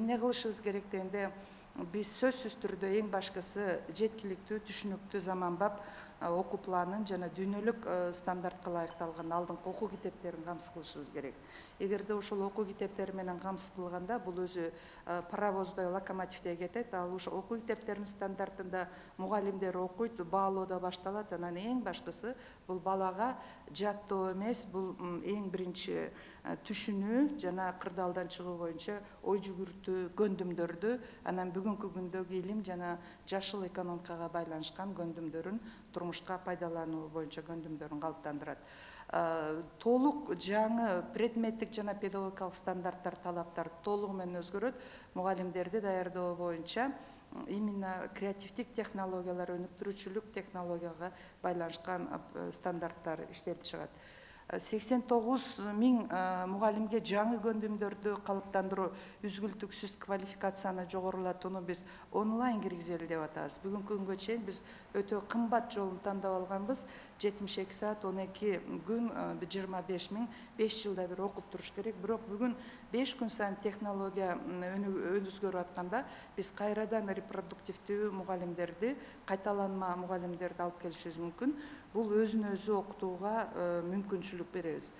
эмне кылышыбыз керек дегенде, биз сөзсүз түрдө эң башкысы жеткиликтүү, түшүнүктүү, заманбап окуу планын жана дүйнөлүк стандартка ылайыкталган алдыңкы окуу китептерин камсыз кылышыбыз керек. Эгерде ошол окуу китептери менен камсыз кылганда, бул өзү паровоздой, локомотивдей кетет. Ал ошо окуу китептеринин стандартында мугалимдер окуйт, баалоо да башталат. Анан эң башкысы бул балага жаттоо эмес, бул эң биринчи түшүнүү жана кырдаалдан чыгуу боюнча ой жүгүртүү көндүмдөрдү, анан бүгүнкү күндөгү илим жана жашыл экономикага байланышкан көндүмдөрүн турмушка пайдалануу боюнча көндүмдөрүн калыптандырат. Толук жаңы предметтик жана педагогикалык стандарттар, талаптар толугу менен өзгөрөт. Мугалимдерди даярдоо боюнча именно креативдик технологиялар, өнүктүрүүчүлүк технологияга байланышкан стандарттар иштелип чыгат. 89 миң мугалимге жаңы көндүмдөрдү калыптандыруу, үзгүлтүксүз квалификацияны жогорулатууну биз онлайн киргизели деп атабыз. Бүгүнкү күнгө чейин биз өтө кымбат жолун тандап алганбыз. 72 саат 12 күн 25 миң 5 жылда бир окуп туруш керек. Бирок бүгүн 5 күн сайын технология өзгөрүп атканда биз кайрадан репродуктивдүү мугалимдерди, кайталанма мугалимдерди алып келишибиз мүмкүн. Бул өзүн өзү окутууга мүмкүнчүлүк беребиз.